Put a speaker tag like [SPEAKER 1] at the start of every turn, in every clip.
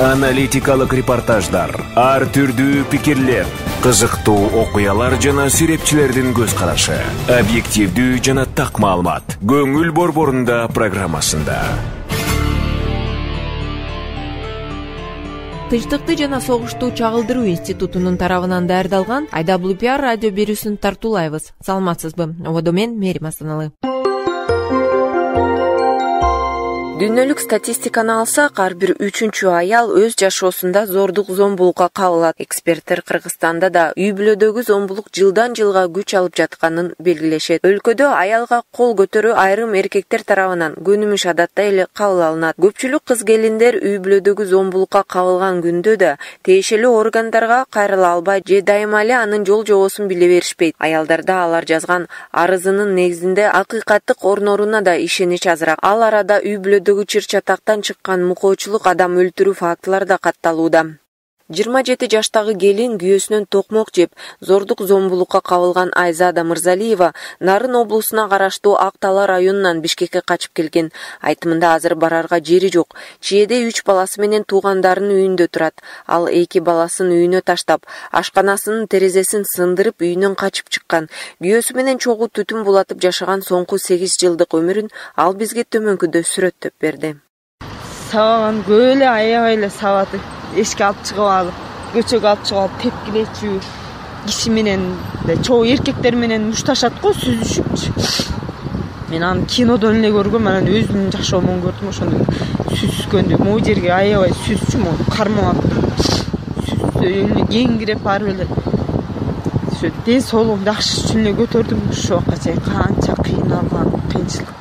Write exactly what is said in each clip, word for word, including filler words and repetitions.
[SPEAKER 1] Аналитикалык репортаждар, ар түрдүү пикирлер, кызыктуу окуялар жана серепчилердин көз карашы, объективдүү жана так маалымат. Көңүл борборунда программасында.
[SPEAKER 2] Тынчтыкты жана согушту чагылдыруу институтунун тарабынан даярдалган ай дабл ю пи ар радио берүүсүн тартуулайбыз. Саламатсызбы? Ободо мен Мерим Асаналы. Дүйнөлүк статистиканы алсак, ар бир үчүнчү аял өз жашоосунда зордук зомбулукка кабылат. Эксперттер Кыргызстанда да үй бүлөдөгү зомбулук жылдан жылга күч алып жатканын белгилешет. Өлкөдө аялга кол көтөрүү айрым эркектер тарабынан көнүмүш адатта эле кабыл алынат. Көпчүлүк кыз келиндер үй бүлөдөгү зомбулукка кабылган күндө да тиешелүү органдарга кайрыла албай же дайыма эле анын жол жобосун биле беришпейт. Аялдарда алар жазган арызынын негизинде акыйкаттык орнооруна да ишенич азыраак. Ал арада үй бүлөдө чыр-чатактан чыккан мукоочулук, адам өлтүрүү фактылары да катталууда. жыйырма жети жаштагы келин күйөөсүнөн токмок жеп, зордук зомбулукка кабылган Айзада Мырзалиева Нарын облусуна караштуу Ак Тала районунан Бишкекке качып келген. Айтымында азыр барарга жери жок. Чиеде үч баласы менен туугандарынын үйүндө турат. Ал эки баласын үйүнө таштап, ашканасынын терезесин сындырып үйүнөн качып чыккан. Күйөөсү менен чогуу түтүн булатып жашаган соңку сегиз жылдык өмүрүн ал бизге төмөнкүдө сүрөттөп берди.
[SPEAKER 3] Сабаган көп эле аябай эле сабады. Эшикке алып чыгып алып, көчөгө алып чыгып алып тепкилечү, киши менен чогуу эркектер менен мушташат го, сүзүшүпчү. Мен аны кинодон эле көргөм, анан өзүмдүн жашоомон көрдүм, ошондо сүзүскөндү. Могу жерге аябай сүзчү, могу кармап сүзсө эле кеңирип барып эле. Ошо ден соолугум жакшы үчүн эле көтөрдүм. Ошо убакка чейин канча кыйналган, кыйынчылык.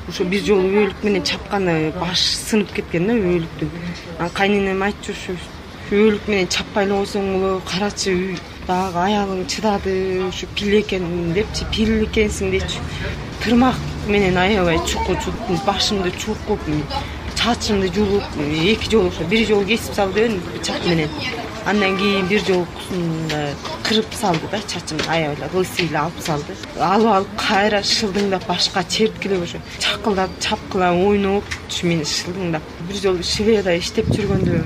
[SPEAKER 3] Ошо бир жолу өөлүк менен чапканы баш сынып кеткен да өөлүктүн. Анан кайненем айтчу, ушу өөлүк менен чаппай эле койсоң боло, карачы дагы аялың чыдады, ушу пил экен депчи, пил экенсиң депчи. Тырмак менен аябай чуку чуктум, башымды чукуп, чачымды жулуп, эки жолу ошо бир жолу кесип салды бычак менен. Андан кийин бир жолкусунда кырып салды да чачымды, аябай эле лысый эле алып салды. Алып алып кайра шылдыңдап башка чепкилеп ошо чакылдап, чапкылап ойноп мени шылдыңдап. Бир жолу Шведада иштеп жүргөндө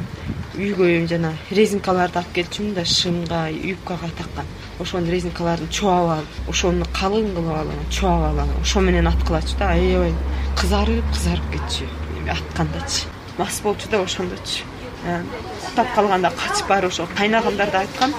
[SPEAKER 3] үйгө жана резинкаларды алып келчүмүн да шымга, юбкага таккан. Ошонун резинкаларын чуап алып, ошону калың кылып алып, чуап алып, ошо менен аткылачу да, аябай кызарып, кызарып кетчү. Аткандачы. Мас болчу да ошондочу. Уктап калганда качып барып ошо кайнагамдарды айткан.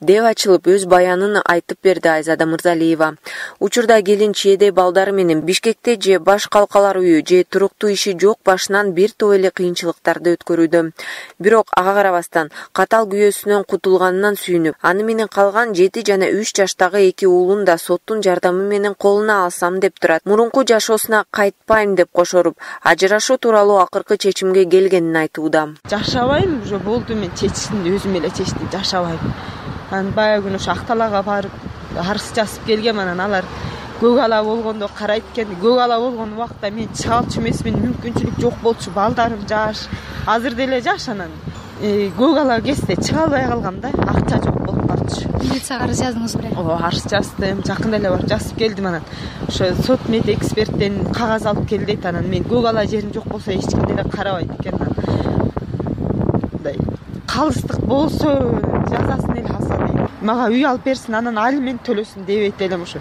[SPEAKER 2] Деп ачылып өз баянын айтып берди Айзада Мырзалиева. Учурда келин чиеде балдары менен Бишкекте же баш калкалар үйү же туруктуу иши жок башынан бир топ эле кыйынчылыктарды өткөрүүдө. Бирок ага карабастан катал күйөөсүнөн кутулганынан сүйүнүп, аны менен калган жети жана үч жаштагы эки уулун да соттун жардамы менен колуна алсам деп турат. Мурунку жашоосуна кайтпайм деп кошоруп, ажырашуу тууралуу акыркы чечимге келгенин айтууда.
[SPEAKER 3] Жашабайм, уже болду, мен чечтим, өзүм эле чечтим, жашабайм. Анан баягы күнү ошо Ак Талага барып арыз жазып келгем, анан алар көк ала болгондо карайт экен. Көк ала болгон убакта мен чыга алчу эмесмин, мүмкүнчүлүк жок болчу, балдарым жаш, азыр деле жаш, анан көк ала кезде чыга албай калгам да, акча жок болуп калчу.
[SPEAKER 4] Милицияга арыз жаздыңыз беле?
[SPEAKER 3] Ооба, арыз жаздым, жакында эле барып жазып келдим. Анан ошо сот мед эксперттен кагаз алып кел дейт. Анан мен көк ала жерим жок болсо эч ким деле карабайт экен. Мындай калыстык болсо жазасын эле алса дейт. Мага үй алып берсин, анан алимент төлөсүн дебейт элем, ошо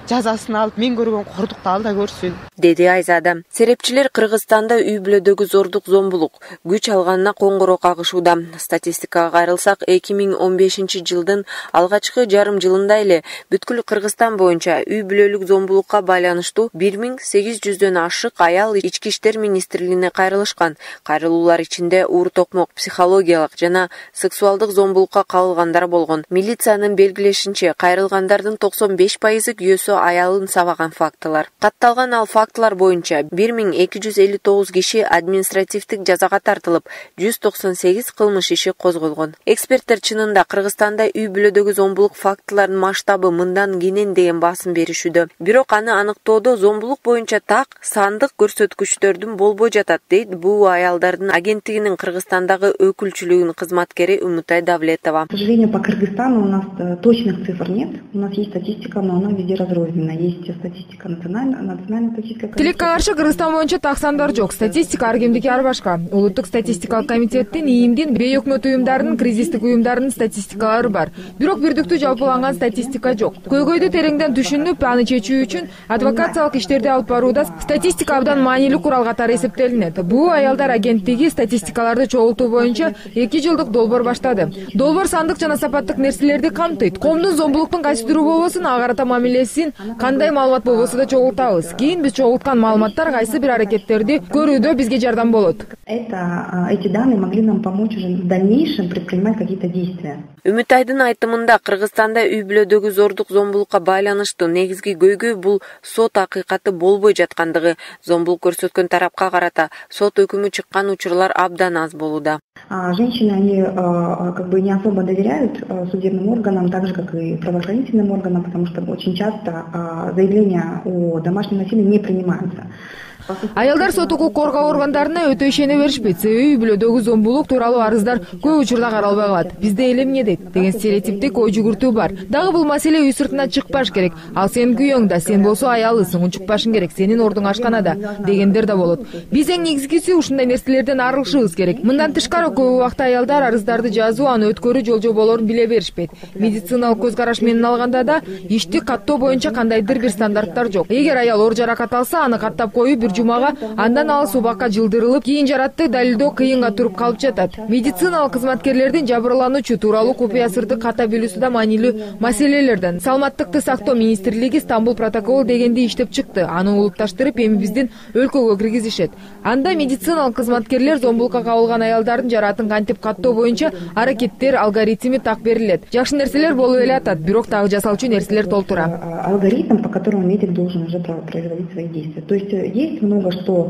[SPEAKER 3] жазасын алып мен көргөн кордукту ал да көрсүн,
[SPEAKER 2] деди Айзада. Серепчилер Кыргызстанда үй бүлөдөгү зордук зомбулук күч алганына коңгуроо кагышууда. Статистикага кайрылсак, эки миң он бешинчи жылдын алгачкы жарым жылында эле бүткүл Кыргызстан боюнча үй бүлөлүк зомбулукка байланыштуу бир миң сегиз жүздөн ашык аял Ички иштер министрлигине кайрылышкан. Кайрылуулар ичинде уур токмок, психологиялык жана сексуалдык зомбулукка кабылгандар болгон. Милициянын белгилешинче, кайрылгандардын токсон беш пайызы күйөөсү аялын сабаган фактылар. Катталган ал фактылар боюнча бир миң эки жүз элүү тогуз киши административдик жазага тартылып, жүз токсон сегиз кылмыш иши козголгон. Эксперттер чынында Кыргызстанда үй бүлөдөгү зомбулук фактыларынын масштабы мындан кенен деген басым беришүүдө. Бирок аны аныктоодо зомбулук боюнча так сандык көрсөткүчтөрдүн болбой жатат, дейт бул аялдардын агенттигинин Кыргызстандагы өкүлчүлүгүнүн кызматкери Умутай Давлетова.
[SPEAKER 5] К сожалению, по Кыргызстану у нас точных цифр нет. У нас есть статистика, но она везде разрознена. Есть статистика национальной, национальной статистической
[SPEAKER 4] Тилекке каршы Кыргызстан боюнча так сандар жок. Статистика ар кимдики ар башка. Улуттук статистикалык комитеттин, ИИМдин, бейөкмөт уюмдарынын, кризистик уюмдарынын статистикалары бар. Бирок бирдиктүү жалпыланган статистика жок. Көйгөйдү тереңден түшүнүп, аны чечүү үчүн адвокациялык иштерди алып барууда статистика абдан маанилүү курал катары эсептелинет. Бул аялдар агенттиги статистикаларды чогултуу боюнча эки жылдык долбоор баштады. Долбоор сандык жана сапаттык нерселерди камтыйт. Коомдун зомбулуктун кайсы түрү болбосун, ага карата мамилесин, кандай маалымат болбосо да чогултабыз. Кийин биз чогулткан маалыматтар кайсы бир аракеттерди көрүүдө бизге жардам болот.
[SPEAKER 5] Это эти данные могли нам помочь уже в дальнейшем предпринимать какие-то действия.
[SPEAKER 2] Үмүтайдын айтымында Кыргызстанда үй бүлөдөгү зордук зомбулукка байланыштуу негизги көйгөй бул сот акыйкаты болбой жаткандыгы. Зомбулук көрсөткөн тарапка карата сот өкүмү чыккан учурлар абдан аз болууда.
[SPEAKER 5] Женщины, они как бы не особо доверяют судебным органам, так же, как и правоохранительным органам, потому что очень часто заявления о домашнем насилии не принимаются.
[SPEAKER 4] Аялдар сот укук коргоо органдарына өтө ишене беришпейт. Себеби үй бүлөдөгү зомбулук тууралуу арыздар көп учурда каралбай калат. Бизде эле эмне дейт деген стереотиптик ой жүгүртүү бар. Дагы бул маселе үй сыртына чыкпаш керек. Ал сенин күйөөң да, сен болсо аялысың, унчукпашың керек, сенин ордуң ашканада дегендер да болот. Биз эң негизгиси ушундай нерселерден арылышыбыз керек. Мындан тышкары көп убакта аялдар арыздарды жазуу, аны өткөрүү жолжоболорун биле беришпейт. Медициналык көз караш менен алганда да ишти каттоо боюнча кандайдыр бир стандарттар жок. Эгер аял оор жаракат алса, аны каттап коюп бир жумага, андан ал субакка жылдырылып, кийин жаратты далилдөө кыйынга туруп калып жатат. Медициналык кызматкерлердин жабырлануучу тууралуу купуя сырды ката билүүсү да маанилүү маселелерден. Саламаттыкты сактоо министрлиги Стамбул протоколу дегенди иштеп чыкты. Аны улупташтырып, эми биздин өлкөгө киргизишет. Анда медициналык кызматкерлер зомбулукка кабылган аялдардын жаратын кантип каттоо боюнча аракеттер, алгоритми так берилет. Жакшы нерселер болуп эле атат, бирок дагы жасалчу нерселер толтура.
[SPEAKER 5] Алгоритм, по которому медик должен уже производить свои действия. То есть есть много что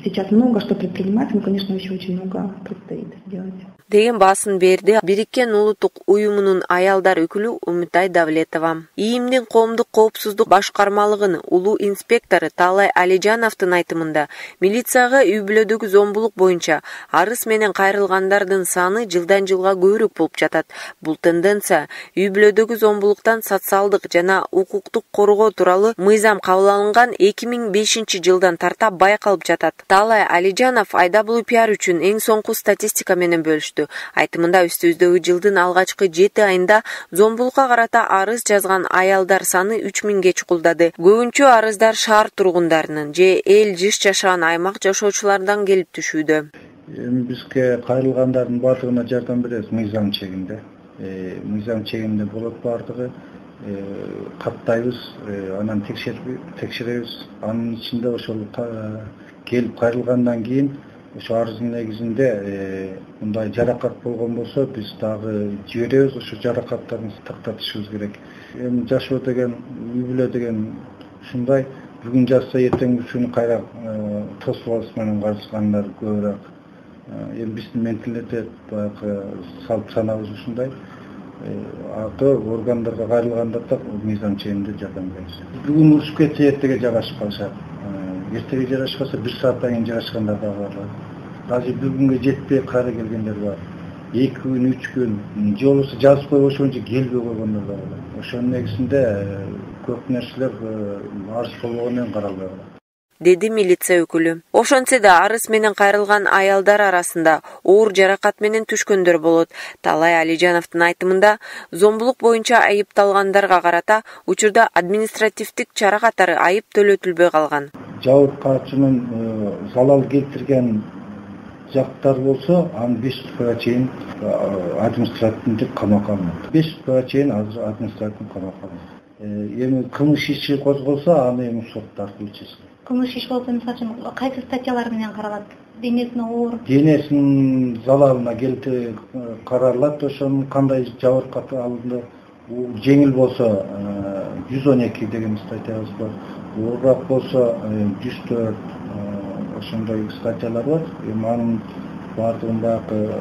[SPEAKER 5] сейчас много что предпринимать, но, конечно, еще очень много предстоит сделать.
[SPEAKER 2] Деген баасын берди Бириккен улуттук уюмунун аялдар өкүлү Үмүтай Давлетова. ИИМдин коомдук коопсуздук башкармалыгынын улуу инспектору Талай Алижановдун айтымында милицияга үй бүлөдөгү зомбулук боюнча арыз менен кайрылгандардын саны жылдан жылга көбүрөөк болуп жатат. Бул тенденция үй бүлөдөгү зомбулуктан социалдык жана укуктук коргоо тууралуу мыйзам кабыл алынган эки миң бешинчи жылдан тарта байкалып жатат. Талай Алижанов Айда Блу пиар үчүн эң соңку статистика менен бөлүштү. Айтымында үстүбүздөгү жылдын алгачкы жети айында зомбулукка карата арыз жазган аялдар саны үч миңге чукулдады. Көбүнчө арыздар шаар тургундарынын же эл жыш жашаган аймак жашоочуларынан келип түшүүдө.
[SPEAKER 6] Эми бизге кайрылгандардын баардыгына жардам беребиз мыйзам чегинде. Мыйзам чегинде болот баардыгы. Каттайбыз, анан текшеребиз. Анын ичинде ошол келип кайрылгандан кийин ошо арыздын негизинде мындай жаракат болгон болсо биз дагы жиберебиз, ошо жаракаттарын тактатышыбыз керек. Эми жашоо деген, үй бүлө деген ушундай, бүгүн жазса эртең үчүн кайра тосулас менен карышкандар көбүрөөк. Эми биздин менталитет баягы салт санабыз ушундай. Аты органдарга кайрылганда да мыйзам чегинде жардам беребиз. Бүгүн урушуп кетсе эртеге жарашып калышат. Эртеге жарашпаса бир сааттан кийин жарашкандар да бар. Даже бир күнгө жетпей кайра келгендер бар. эки күн, үч күн, же болбосо жазып коюп ошончо келбей койгондор да бар. Ошонун негизинде көп нерселер арыз болгон менен каралбай калат.
[SPEAKER 2] Деди милиция өкүлү. Ошончо да арыз менен кайрылган аялдар арасында оор жаракат менен түшкөндөр болот. Талай Алижановдун айтымында зомбулук боюнча айыпталгандарга карата учурда административдик чара катары айып төлөтүлбөй калган.
[SPEAKER 6] Жауапкарчынын залал келтирген жактар болсо, аны беш суткага чейин административдик камакка алынат. беш суткага чейин азыр административдик камакка алынат. Эми кылмыш иши козголсо, аны эми сот аркылуу чечилет.
[SPEAKER 7] Кылмыш иш болсо, мисалы үчүн, кайсы статьялар менен каралат? Денесине оор,
[SPEAKER 6] денесинин залалына келти каралат, ошонун кандай жабыркат алынды. Жеңил болсо жүз он эки деген статьябыз бар. Оорураак болсо жүз төрт ошондой статьялар бар. Эми анын баардыгын баягы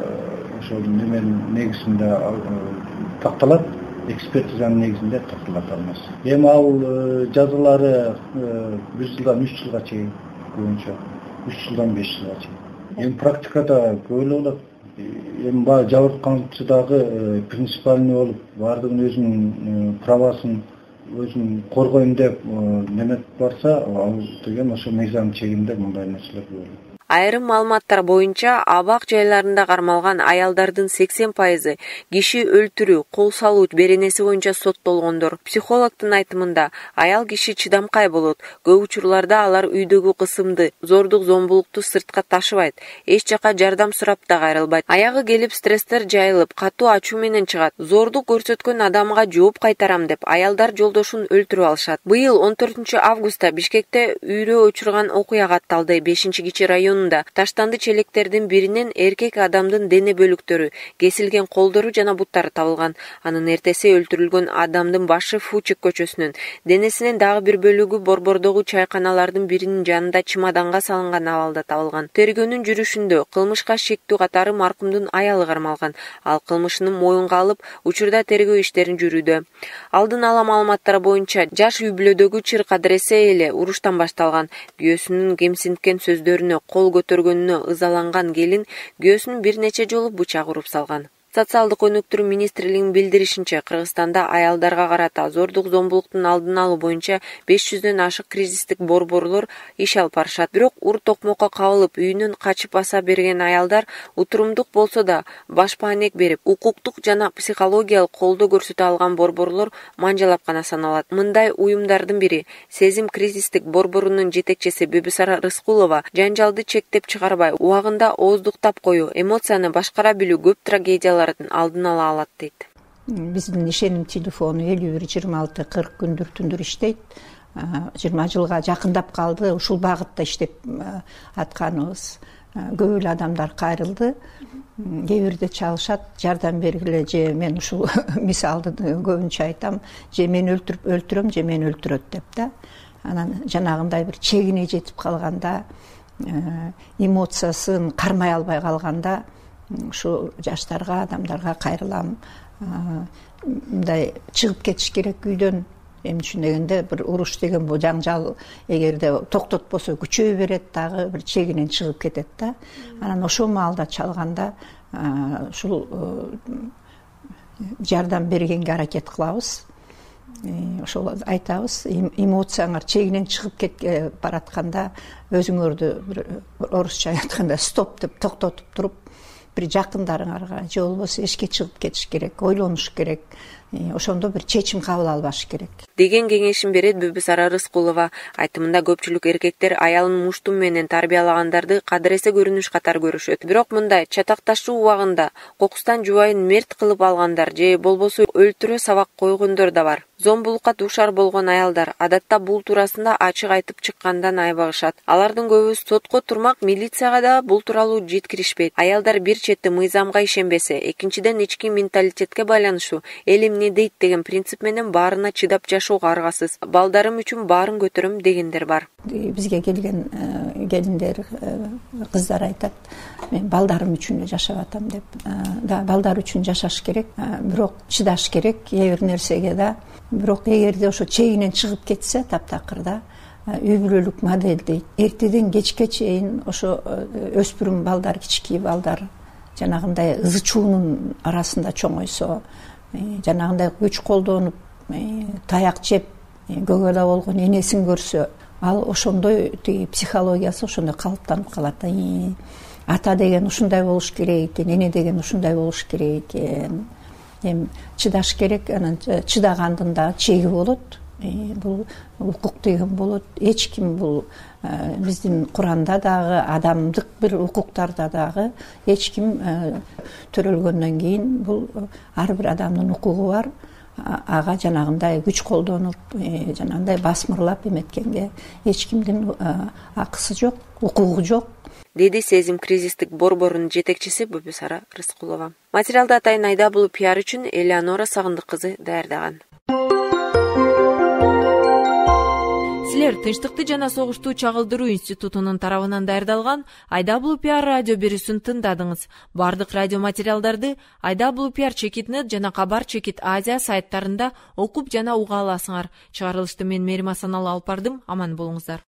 [SPEAKER 6] ошол неменин негизинде такталат, экспертизанын негизинде такталат алмаз. Эми ал жазалары бир жылдан үч жылга чейин көбүнчө, үч жылдан беш жылга чейин. Эми практикада көп эле болот. Эми баягы жабырканчы дагы принципиальный болуп, баардыгын өзүнүн правасын өзүн коргойм деп неметип барса, ал деген ошо мыйзам чегинде мындай нерселер болот.
[SPEAKER 2] Айрым маалыматтар боюнча абак жайларында кармалган аялдардын сексен пайызы киши өлтүрүү, кол салуу беренеси боюнча соттолгондор. Психологдун айтымында аял киши чыдамкай болот. Көп учурларда алар үйдөгү кысымды, зордук зомбулукту сыртка ташыбайт, эч жака жардам сурап да кайрылбайт. Аягы келип стресстер жайылып, катуу ачуу менен чыгат. Зордук көрсөткөн адамга жооп кайтарам деп аялдар жолдошун өлтүрүп алышат. Быйыл он төртүнчү августта Бишкекте үйрө учурган окуя катталды. бешинчи кичи район таштанды челектердин биринен эркек адамдын дене бөлүктөрү, кесилген колдору жана буттары табылган. Анын эртеси өлтүрүлгөн адамдын башы Фучек көчөсүнүн, денесинин дагы бир бөлүгү Борбордогу чайканалардын биринин жанында чемоданга салынган абалда табылган. Тергөөнүн жүрүшүндө кылмышка шектүү катары маркумдун аялы кармалган. Ал кылмышын моюнга алып, учурда тергөө иштерин жүрүүдө. Алдын ала маалыматтар боюнча жаш үй бүлөдөгү чыр кадыресе эле уруштан башталган. Күйөөсүнүн кемсинткен сөздөрүнө кол көтөргөнүнө ызаланган келин күйөөсүн бир нече жолу бычак уруп салган. Социалдык өнүктүрүү министрлигинин билдиришинче, Кыргызстанда аялдарга карата зордук зомбулуктун алдын алуу боюнча беш жүздөн ашык кризистик борборлор иш алып барышат. Бирок ур токмокко кабылып, үйүнөн качып баса берген аялдар утурумдук болсо да баш маанек берип, укуктук жана психологиялык колдоо көрсөтө алган борборлор манжалап гана саналат. Мындай уюмдардын бири Сезим кризистик борборунун жетекчиси Бүбүсара Рыскулова жанжалды чектеп чыгарбай, убагында ооздуктап коюу, эмоцияны башкара билүү көп трагедиялар алдын ала алат дейт.
[SPEAKER 8] Биздин ишеним телефону элүү бир жыйырма алты кырк күндүр түндүр иштейт. жыйырма жылга жакындап калды. Ушул багытта иштеп атканыбыз. Көп эле адамдар кайрылды. Кээ бирде чалышат, жардам бергиле же мен ушул мисалды көбүнчө айтам, же мен өлтүрүп өлтүрөм, же мен өлтүрөт деп да. Анан жанагындай бир чегине жетип калганда, эмоциясын кармай албай калганда ушу жаштарга, адамдарга кайрылам. Мындай чыгып кетиш керек үйдөн. Эми үчүн дегенде бир уруш деген бул жаңжал эгерде токтотпосо күчөй берет, дагы бир чегинен чыгып кетет да. Анан ошол маалда чалганда ушул жардам бергенге аракет кылабыз. Ошол айтабыз, эмоцияңар чегинен чыгып кетке баратканда өзүңөрдү бир орусча айтканда стоп деп токтотуп туруп, бир жакындарыңарга же болбосо эшикке чыгып кетиш керек, ойлонуш керек. Ошондо бир чечим кабыл албаш керек
[SPEAKER 2] деген кеңешин берет Бүбүсара Рыскулова. Айтымында көпчүлүк эркектер аялын муштум менен тарбиялагандарды кадыресе көрүнүш катары көрүшөт. Бирок мындай чатакташуу убагында кокустан жубайын мерт кылып алгандар же болбосо өлтүрө сабак койгондор да бар. Зомбулукка дуушар болгон аялдар адатта бул туурасында ачык айтып чыккандан айбагышат. Алардын көбү сотко турмак, милицияга да бул тууралуу жеткиришпейт. Аялдар бир чети мыйзамга ишенбесе, экинчиден ички менталитетке байланыштуу элим не дейт деген принцип менен баарына чыдап жашоого аргасыз. Балдарым үчүн баарын көтөрөм дегендер бар.
[SPEAKER 8] Бизге келген келиндер, кыздар айтат, мен балдарым үчүн эле жашап атам деп. Да, балдар үчүн жашаш керек, бирок чыдаш керек эң бир нерсеге да. Бирок эгерде ошо чегинен чыгып кетсе, таптакыр да, үй бүлөлүк модель дейт. Эртеден кечке чейин ошо өспүрүм балдар, кички балдар жанагындай ызы чуунун арасында чоңойсо, жанагындай күч колдонуп, таяк жеп, көгөлө болгон энесин көрсө, ал ошондой тиги психологиясы ошондой калыптанып калат. Ата деген ушундай болуш керек экен, эне деген ушундай болуш керек экен. Эми чыдаш керек, анан чыдагандын да чеги болот. Бул укук деген болот. Эч ким бул биздин Куранда дагы, адамдык бир укуктарда дагы эч ким төрөлгөндөн кийин бул ар бир адамдын укугу бар. Ага жанагындай күч колдонуп, жанагындай басмырлап эметкенге эч кимдин акысы жок, укугу жок.
[SPEAKER 2] Деди Сезим кризистик борборунун жетекчиси Бүбүсара Рыскулова. Материалды Атайын Айдабулу пиар үчүн Элеонора Сагындык кызы даярдаган. Силер Тынчтыкты жана согушту чагылдыруу институтунун тарабынан даярдалган Айдабулу пиар радио берүүсүн тыңдадыңыз. Бардык радио материалдарды Айдабулу пиар чекит нет жана Кабар чекит Азия сайттарында окуп жана уга аласыңар. Чыгарылышты мен Мерим Асаналы алып бардым. Аман болуңуздар.